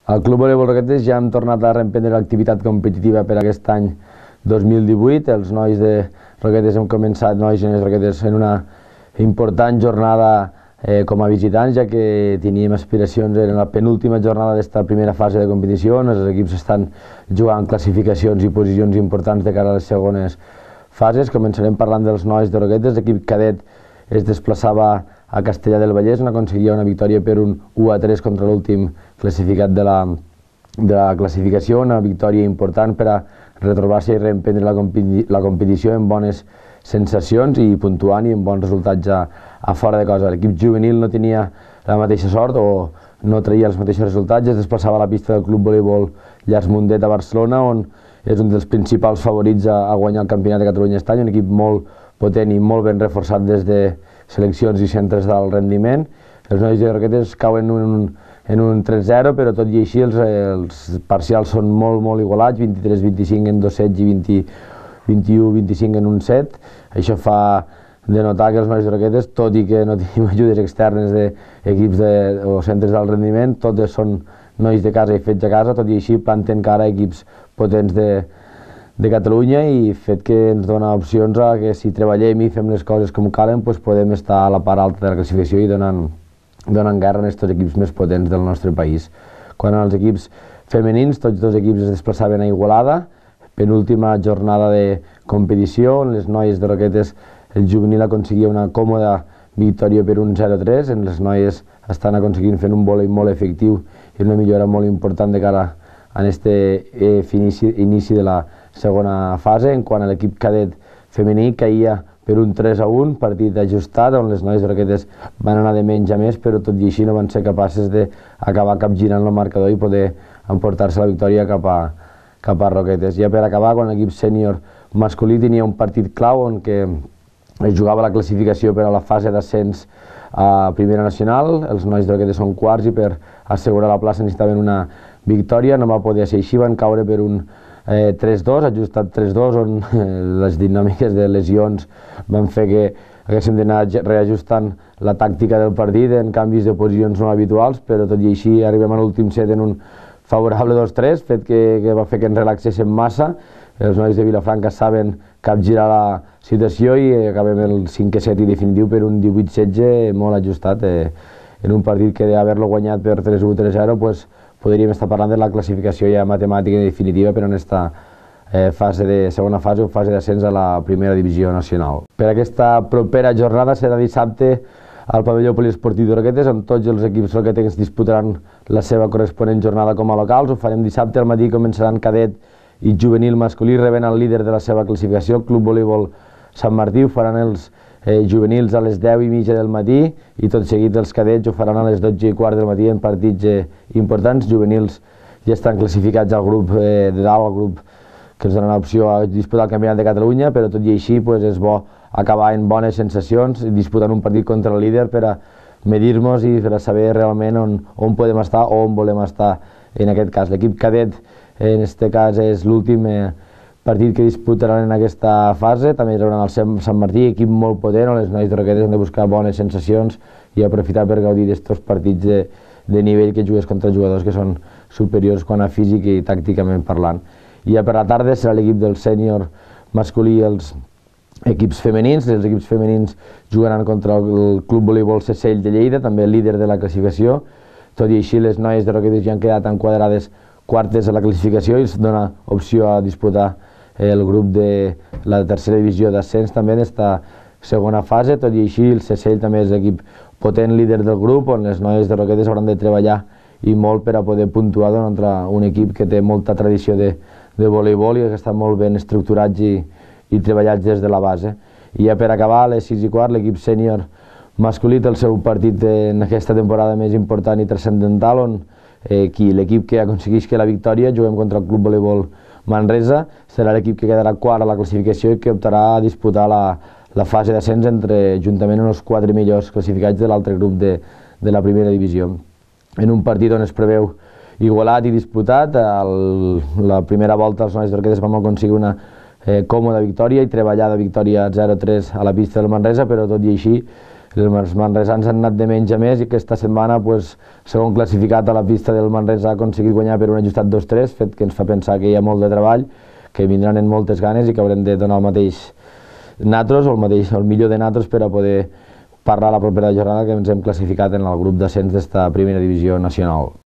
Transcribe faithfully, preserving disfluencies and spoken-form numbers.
Al Club Voleibol Roquetes ja hem tornat a reemprendre l'activitat competitiva per aquest any dos mil divuit. Els nois de Roquetes hem començat, nois i noies Roquetes, en una important jornada eh, com a visitants, ja que teníem aspiracions en la penúltima jornada d'esta primera fase de competició, on els equips estan jugant classificacions i posicions importants de cara a les segones fases. Començarem parlant dels nois de Roquetes. L'equip cadet es desplaçava a Castellar del Vallès, on aconseguia una victòria per un u a tres contra l'últim classificat de la, de la classificació, una victòria important per a retrobar-se i reemprendre la, competi la competició amb bones sensacions i puntuant i amb bons resultats a, a fora de casa. L'equip juvenil no tenia la mateixa sort o no traia els mateixos resultats, es desplaçava a la pista del Club Voleibol Llars Mundet a Barcelona, on és un dels principals favorits a, a guanyar el Campionat de Catalunya aquest any, un equip molt potent i molt ben reforçat des de seleccions i centres d'alt rendiment. Els nois de Roquetes cauen en un, en un tres zero, però tot i així els, els parcials són molt, molt igualats, vint-i-tres vint-i-cinc en dos sets i vint-i-u vint-i-cinc en un set. Això fa de notar que els nois de Roquetes, tot i que no tenim ajudes externes d'equips de, o centres d'alt rendiment, totes són nois de casa i fets a casa, tot i així planten cara a equips potents de, de Catalunya, i fet que ens dona opcions a que si treballem i fem les coses com calen, doncs podem estar a la part alta de la classificació i donant, donant guerra a aquests equips més potents del nostre país. Quan als equips femenins, tots dos equips es desplaçaven a Igualada, penúltima jornada de competició, on les noies de Roquetes, el juvenil aconseguia una còmoda victòria per un zero a tres, en les noies estan aconseguint fer un vòlei molt efectiu i una millora molt important de cara a aquest eh, inici, inici de la segona fase. En quant a l'equip cadet femení, caia per un tres a un, partit ajustat, on les noies de Roquetes van anar de menys a més, però tot i així no van ser capaces d'acabar capgirant el marcador i poder emportar-se la victòria cap a, cap a Roquetes. Ja per acabar, quan l'equip sènior masculí tenia un partit clau on que es jugava la classificació per a la fase d'ascens a Primera Nacional. Els nois de Roquetes són quarts i per assegurar la plaça necessitaven una victòria, no va poder ser així, van caure per un Eh, tres dos, ajustat tres dos, on eh, les dinàmiques de lesions van fer que haguéssim d'anar reajustant la tàctica del partit en canvis de posicions no habituals, però tot i així arribem a l'últim set en un favorable dos tres, fet que, que va fer que ens relaxéssim massa. Els nois de Vilafranca saben capgirar la situació i acabem el cinquè set i definitiu per un divuit setze molt ajustat, eh, en un partit que d'haver-lo guanyat per tres u tres zero, pues, podríem estar parlant de la classificació ja matemàtica i definitiva per a aquesta eh, fase de segona fase o fase d'ascens a la primera divisió nacional. Per aquesta propera jornada serà dissabte al pavelló poliesportiu de Roquetes, on tots els equips roquetencs disputaran la seva corresponent jornada com a locals. Ho farem dissabte al matí, començaran cadet i juvenil masculí, rebent el líder de la seva classificació, el Club Voleibol Sant Martí. Ho faran els Eh, juvenils a les deu i mitja del matí i tot seguit els cadets ho faran a les dotze i quart del matí en partits eh, importants. Juvenils ja estan classificats al grup eh, de dalt, al grup que ens dona l'opció a disputar el Campionat de Catalunya, però tot i així pues, és bo acabar en bones sensacions, disputant un partit contra el líder per a medir-nos i per a saber realment on, on podem estar o on volem estar en aquest cas. L'equip cadet en aquest cas és l'últim eh, partit que disputaran en aquesta fase. També rebran el Sant Martí, equip molt potent, on les noies de Roquetes han de buscar bones sensacions i aprofitar per gaudir d'estos partits de, de nivell que jugues contra jugadors que són superiors quant a físic i tàcticament parlant. I ja per la tarda serà l'equip del sènior masculí i els equips femenins. Els equips femenins jugaran contra el Club Voleibol Sesell de Lleida, també líder de la classificació. Tot i així, les noies de Roquetes ja han quedat enquadrades quartes a la classificació i es dona opció a disputar el grup de la tercera divisió d'ascens també en aquesta segona fase. Tot i així, el Sesell també és l'equip potent líder del grup, on les noies de Roquetes hauran de treballar i molt per a poder puntuar contra un equip que té molta tradició de, de voleibol i que està molt ben estructurats i, i treballats des de la base. I ja per acabar, a les sis i quart, l'equip sènior masculí té el seu partit en aquesta temporada més important i transcendental, on eh, l'equip que aconsegueix que la victòria, juguem contra el Club Voleibol Manresa, serà l'equip que quedarà quart a la classificació i que optarà a disputar la, la fase d'ascens entre juntament amb els quatre millors classificats de l'altre grup de, de la primera divisió. En un partit on es preveu igualat i disputat, el, la primera volta els nois de Roquetes vam aconseguir una eh, còmoda victòria i treballada victòria zero a tres a la pista del Manresa, però tot i així els manresans han anat de menys a més i aquesta setmana, pues, segon classificat a la pista del Manresa, ha aconseguit guanyar per un ajustat dos tres, fet que ens fa pensar que hi ha molt de treball, que vindran en moltes ganes i que haurem de donar el mateix natros o el, mateix, el millor de natros per a poder parlar la propera jornada que ens hem classificat en el grup d'ascens d'esta primera divisió nacional.